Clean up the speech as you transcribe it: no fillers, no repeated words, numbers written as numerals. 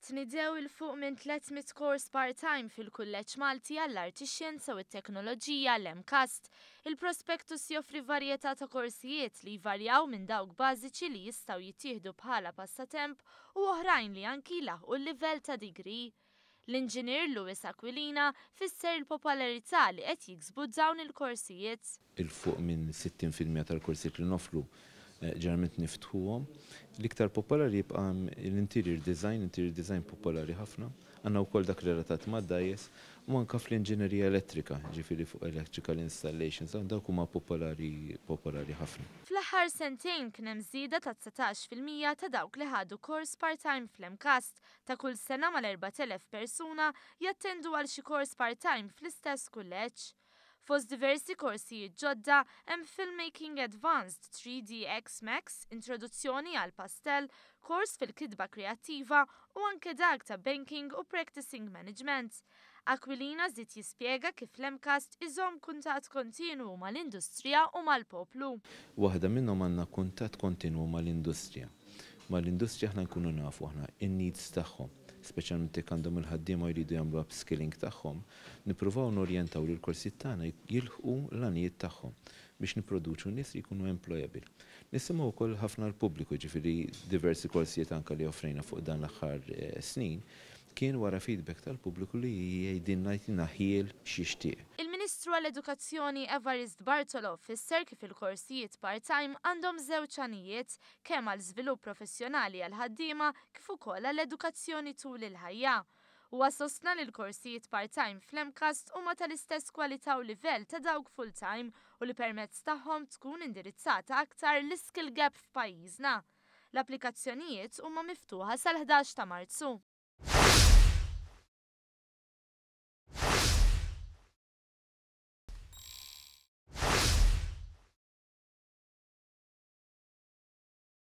Tnidew 'il fuq minn 300 kors part-time fil-Kulleġġ Malti għall-Arti, Xjenza u t-Teknoloġija, l-MCAST. Il-prospectus joffri varjetà ta' korsijiet li jvarjaw minn dawk bażiċi li jistgħu jittieħdu bħala passatemp u oħrajn li anki jlaħqu l-livell ta' degree. L-Inġinier Louis Aquilina fisser il-popolarità li qed jiksbu dawn il-korsijiet. 'Il fuq minn 60% tal-korsijiet li noffru ġeneralment niftħuhom. L-iktar popolari jibqa' l-interior design, interior design popolari ħafna. Għandna wkoll dak relatat mad-dgħajjes u anke fl-inġinerija elettrika, ġifieri fuq electrical installations, dawk huma popolari popolari ħafna. Fl-aħħar sentejn kien hemm żieda ta' 19% ta' dawk li ħadu kors part-time fl-MCAST. Ta' kull sena mal-4,000 persuna jattendu għal xi kors part-time fl-istess kulleġġ. Fost diversi korsijiet ġodda hemm Filmmaking Advanced, 3DX Max, Introduzzjoni għal Pastel, kors fil-kitba kreattiva u anke dak ta' Banking u Practicing Management. Aquilina żied jispjega kif l-MCAST iżomm kuntatt kontinwu mal-industrija u mal-poplu. Waħda minnhom, għandna kuntatt kontinwu mal-industrija. Mal-industrija aħna nkunu nafu aħna in-needs tagħhom, speċjalment jekk għandhom il-ħaddiema jridu jagħmlu upskilling tagħhom, nippruvaw norjentaw li l-korsijiet tagħna jilħqu l-għanijiet tagħhom biex nipproduċu nies li jkunu employable. Nisimgħu wkoll ħafna l-pubbliku, ġifieri diversi korsijiet anke li offrejna fuq dan l-aħħar snin kien wara feedback tal-pubbliku li jgħidilna, jtina ħjiel x'jixtieq. Il-Ministru għall-Edukazzjoni Evarist Bartolo fisser kif il-korsijiet part-time għandhom żewġ għanijiet, kemm għal żvilupp professjonali għal ħaddiema kif ukoll għall-edukazzjoni tul il-ħajja. Huwa sostna li l-korsijiet part-time fl-MCAST huma tal-istess kwalità u livell ta' dawk full-time u li permezz tagħhom tkun indirizzata aktar l-skill gap f'pajjiżna. L-applikazzjonijiet huma miftuħa sal-11 ta' Marzu.